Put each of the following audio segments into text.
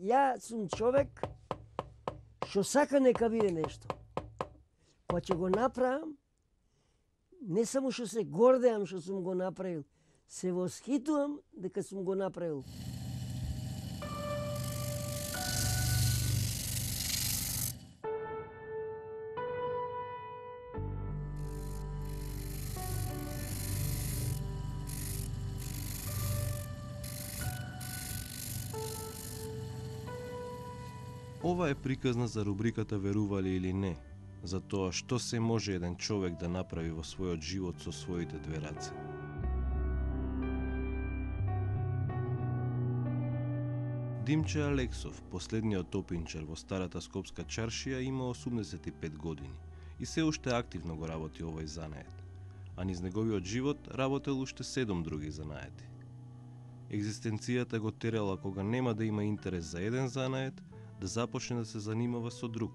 Ја сум човек што сака нека биде нешто. Кога ќе го направам, не само што се гордеам што сум го направил, се восхитувам дека сум го направил. Ова е приказна за рубриката Верували или не, за тоа што се може еден човек да направи во својот живот со своите две раце. Димче Алексов, последниот топинчар во старата Скопска чаршија, има 85 години и се уште активно го работи овој занает, а низ неговиот живот работел уште 7 други занаети. Екзистенцијата го терала кога нема да има интерес за еден занает, да започне да се занимава со друг,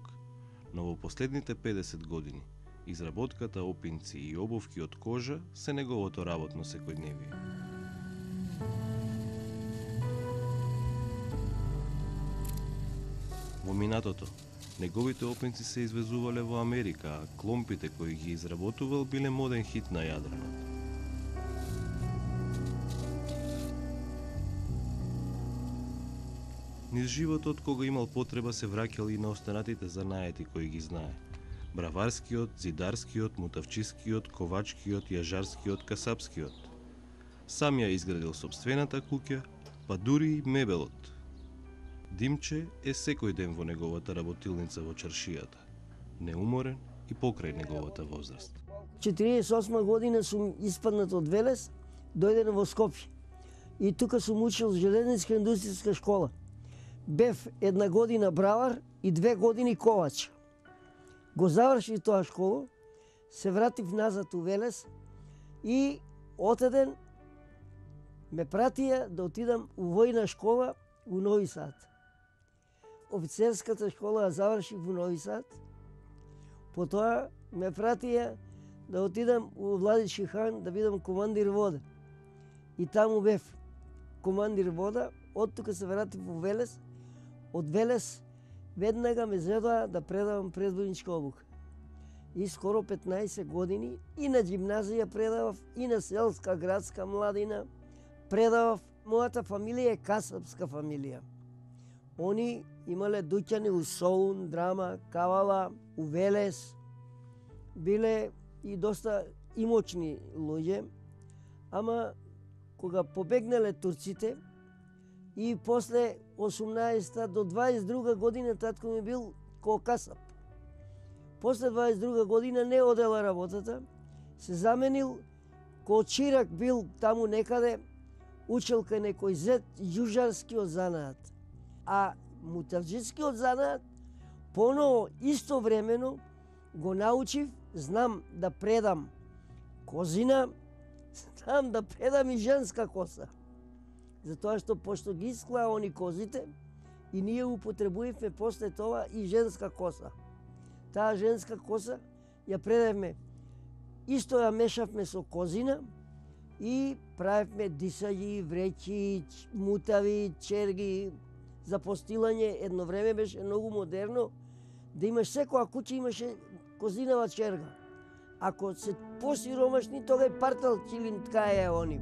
но во последните 50 години изработката опинци и обувки од кожа се неговото работно секојдневие. Во минатото, неговите опинци се извезувале во Америка, а кломпите кои ги изработувал биле моден хит на Јадранот. Низ животот, кога имал потреба, се враќал и на останатите занаети кои ги знае. Браварскиот, зидарскиот, мутавчискиот, ковачкиот, јажарскиот, касапскиот. Сам ја изградил сопствената куќа, па дури и мебелот. Димче е секој ден во неговата работилница во чаршијата, неуморен и покрај неговата возраст. 48 година сум испаднат од Велес, дојден во Скопје. И тука сум учил железниčka индустријска школа. Бев 1 година бравар и 2 години ковач. Го завршив тоа школа, се вратив назад у Велес и отеден ме пратија да отидам у војна школа у Нови Сад. Офицерската школа ја завршив у Нови Сад. Потоа ме пратија да отидам у Владички хан да бидам командир вода. И таму бев командир вода, од тука се вратив у Велес. Од Велес веднага ме зедоа да предавам предвојничка обука. И скоро 15 години и на џимназија предавав, и на селска градска младина предавав. Мојата фамилија е касапска фамилија. Они имале дуќани у Солун, Драма, Кавала, у Велес. Биле и доста имочни луѓе, ама кога побегнале турците и после 18 до 22 година татко ми бил ко касап. После 22 година не одела работата, се заменил ко чирак бил таму некаде, учел кај некој зет јужарскиот занаат. А мутавџискиот занаат поново истовремено го научив, знам да предам козина, знам да предам и женска коса. Затоа што пошто ги исклаа они козите и ние употребувавме после тоа и женска коса. Таа женска коса ја предавме, исто ја мешавме со козина и правевме дисаји, вреќи, мутави, черги. За постилање едно време беше многу модерно да имаш секоја куќа имаше козинава черга. Ако се посиромашни, тога е партал чилин ткаја они.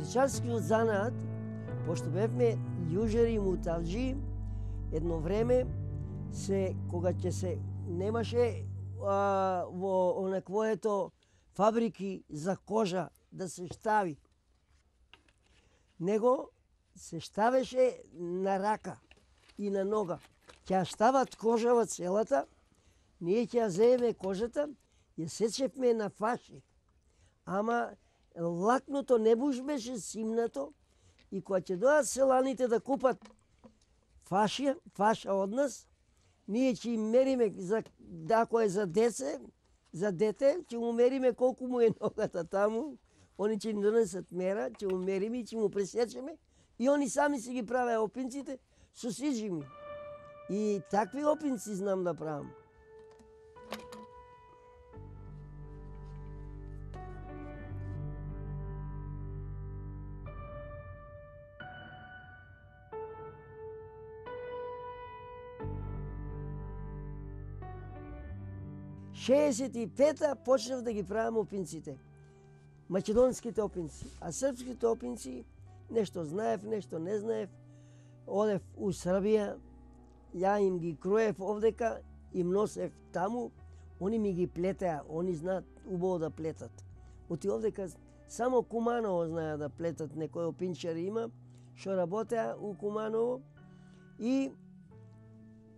Оптичарскиот занаат, пошто бевме јужери и мутавџи, едно време кога ќе се немаше во онаквоето фабрики за кожа да се штави, него се штавеше на рака и на нога. Ќе ја штават кожава целата, ние ќе ја земеме кожата, ја сечевме на фаши. Ама лакното не буш беше симнато и кога ќе дојдат селаните да купат фаша од нас, ние ќе им мериме, ако е за дете, ќе му мериме колку му е ногата таму, они ќе им донесат мера, ќе му мериме и ќе му пресечеме и они сами си ги правеа опинците со сиџими. И такви опинци знам да правам. 65-та почнав да ги правам опинците. Македонските опинци. А српските опинци, нешто знаев, нешто не знаев. Одев у Србија, ја им ги кроев овдека, им носев таму, они ми ги плетеа, они знаат убаво да плетат. Оти овдека само Куманово знаеа да плетат, некои опинчари има, што работеа у Куманово и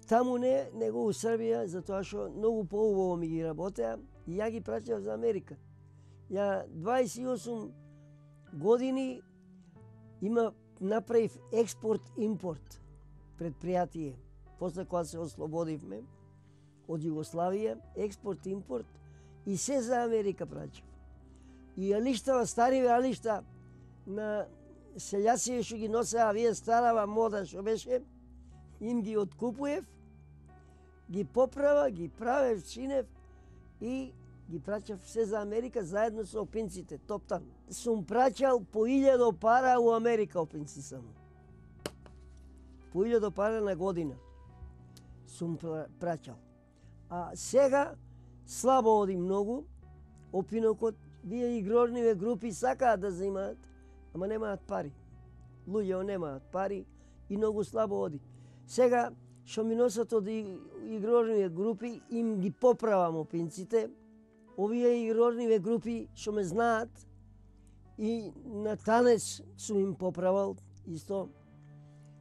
таму не, него у Србија, затоа што многу поубаво ми ги работеа и ја ги праќав за Америка. Ја 28 години направив експорт-импорт предпријатие. После кога се ослободивме од Југославија, експорт-импорт и се за Америка праќав. И алиштава, стариве алишта на селјаци што ги носеа вие старава мода што беше, им ги откупуев, ги поправа, ги правев, чинев и ги праќав се за Америка заедно со опинците, топтан. Сум праќал по 1000 пара у Америка опинци само. По 1000 пара на година сум праќал. А сега слабо оди многу, опинокот, вие игрорниве групи сакаат да земаат, ама немаат пари. Луѓето немаат пари и многу слабо оди. Сега, што ми носат од игрорниве групи, им ги поправам опинците. Овие игрорниве групи што ме знаат и на танец сум им поправал исто.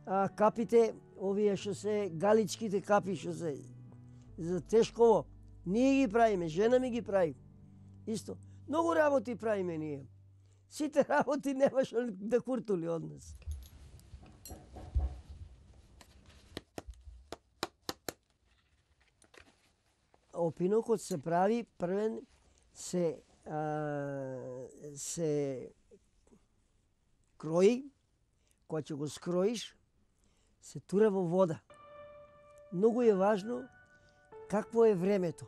А капите, овие што се галичките капи што се за тешково, ние ги правиме, жена ми ги прави. Исто. Многу работи правиме ние. Сите работи нема што да куртули од нас. Опинокот се прави првен се крои, кога ќе го скроиш, се тура во вода. Многу е важно какво е времето.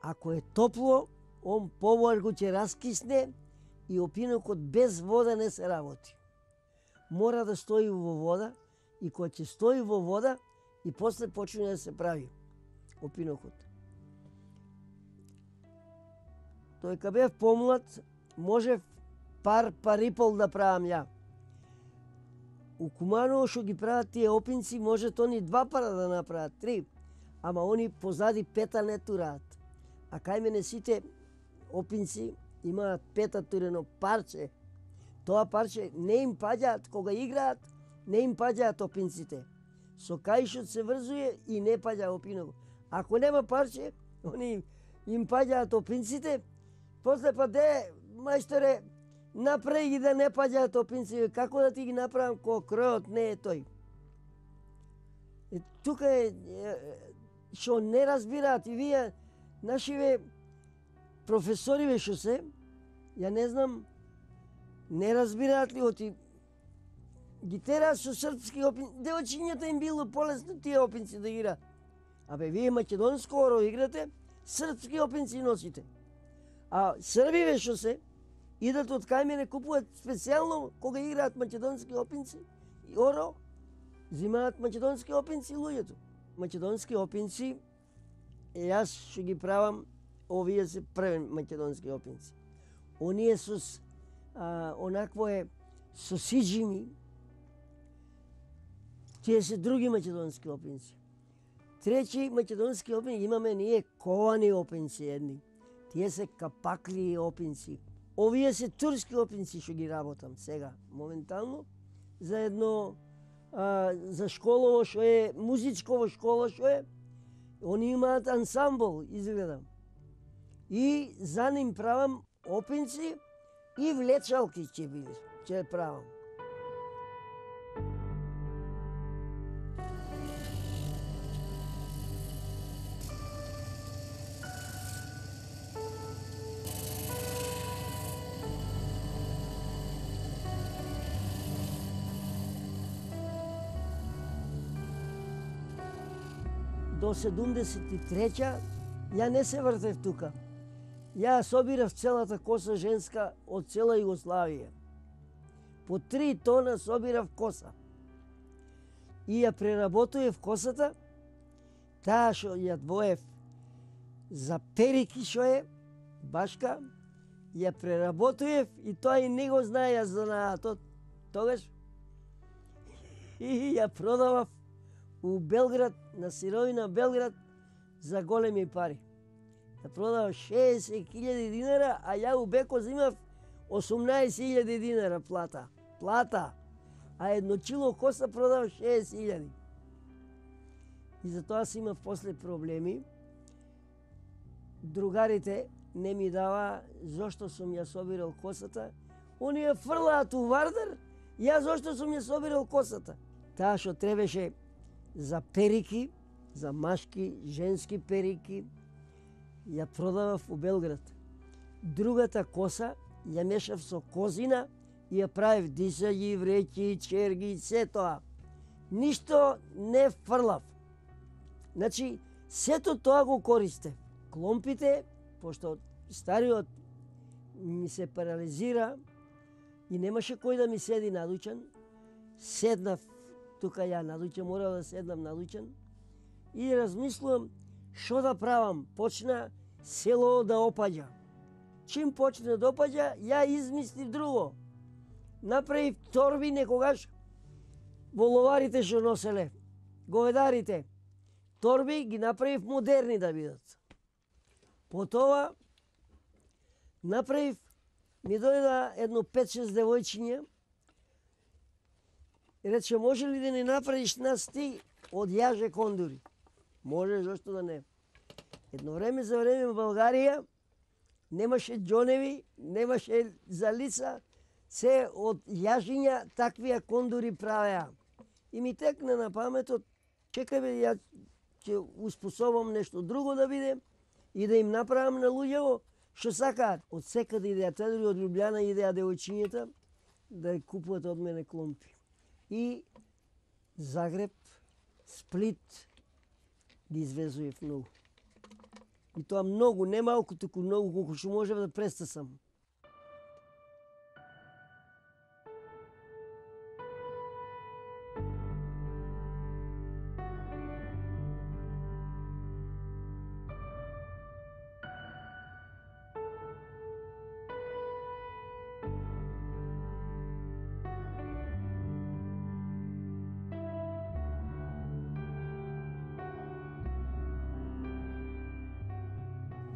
Ако е топло, он побарго ќе раскисне и опинокот без вода не се работи. Мора да стои во вода и кога ќе стои во вода и после почне да се прави опинокот. Тој кога бев помлад, можев пар и пол да правам ја. У Куманово што ги прават тие опинци, може они 2 пара да направат, 3, ама они позади 5 не тураат. А кај мене сите опинци имаат 5 турено парче. Тоа парче не им паѓаат, кога играат, не им паѓаат опинците. Со каишот се врзуе и не паѓа опинокот. Ако нема парче, они им паѓаат опинците, после па де, мајсторе, направи ги да не паѓаат опинци, како да ти ги направам кога кројот не е тој. Тука е што не разбираат и вие, нашиве професориве што се, ја не знам, не разбираат ли оти ги тераат со српски опинци, девојчињата им било полесно тие опинци да играат. Абе, вие македонско оро играте, српски опинци носите. А србиве што се, идат од кај мене, купуваат специјално кога играат македонски опинци и оро, зимаат македонски опинци луѓето. Македонски опинци, јас што ги правам, овие се први македонски опинци. Оние со онакво е со сиџими, тие се други македонски опинци. Трети македонски опинци имаме ние ковани опинци едни. Тие се капакли опинци. Овие се турски опинци што ги работам сега, моментално, за едно за школово што е, музичково школа што е, они имаат ансамбл, изгледам. И за ним правам опинци и влечалки ќе правам. До 73-ќа ја не се вртев тука. Ја собирав целата коса женска од цела Југославија. По 3 тона собирав коса. И ја преработуев косата, таа што ја двоев за перики што е башка, ја преработуев и тоа и не го знаеја занаатот. Тогаш и ја продавав у Белград, на сировина Белград, за големи пари. Ја продавав 60.000 динара, а ја у Беко зимав 18.000 динара плата. Плата! А едно чило коса продавав 60.000. И затоа си имав после проблеми. Другарите не ми дава зошто сум ја собирал косата. Они ја фрлаат у Вардар, ја зошто сум ја собирал косата. Таа што требеше за перики, за машки, женски перики, ја продавав у Белград. Другата коса ја мешав со козина и ја правев дисаѓи, вреќи, черги, се тоа. Ништо не фрлав. Значи, сето тоа го користев. Кломпите, пошто стариот ми се парализира и немаше кој да ми седи надучен, седнав тука ја надучен, морав да седнам надучен и размислувам што да правам. Почна село да опаѓа. Чим почне да опаѓа, ја измислив друго. Направив торби некогаш во ловарите што носеле, говедарите. Торби ги направив модерни да бидат. Потоа направив, ми дојда едно 5-6 девојчиња и рече, може ли да не направиш нас ти од јаже кондури? Може, зашто да не. Едно време за време во Българија немаше џоневи, немаше за лица, се од јажиња таквија кондури правеа. И ми текна на паметот, чекај бе, ја ќе успособам нешто друго да биде и да им направам на луѓето што сакаат. Од секаде идеја, дури од Лјубљана идеја девојчињата да купуват од мене кломпи. И Загреб, Сплит ги извезуев многу. И тоа многу, не малку, туку многу, колку што можев да престасам.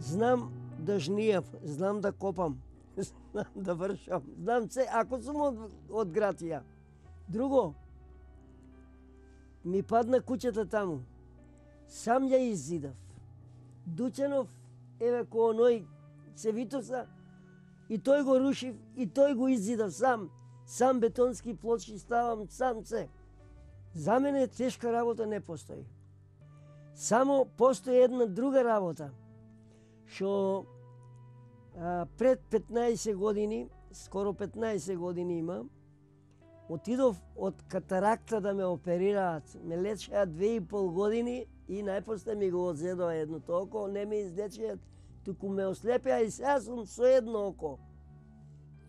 Знам да жнијав, знам да копам, знам да вршам, знам се, ако сум од град ја. Друго, ми падна куќата таму, сам ја иззидав. Дучанов, еве ко оној Цевитоса, и тој го рушив, и тој го иззидав сам. Сам бетонски плочки ставам, сам се. За мене тешка работа не постои. Само постои една друга работа, што пред 15 години, скоро 15 години има, отидов од катаракта да ме оперираат. Ме лечеа 2,5 години и најпосле ми го одзедоа едното око, не ме излечеат, туку ме ослепеа и сега сум со едно око.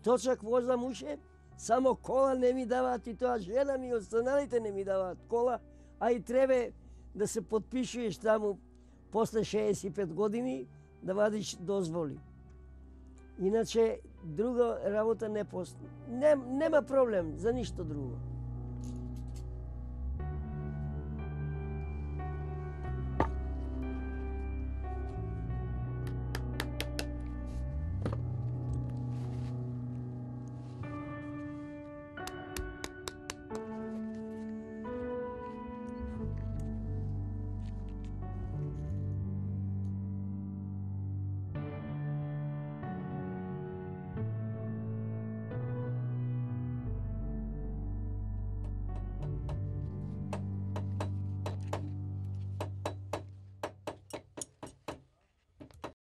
Точак возам уше, само кола не ми даваат и тоа жена ми, останалите не ми даваат кола, а и требе да се подпишуеш таму после 65 години, да вадиш дозволи. Иначе друга работа не постои. Нема проблем за ништо друго.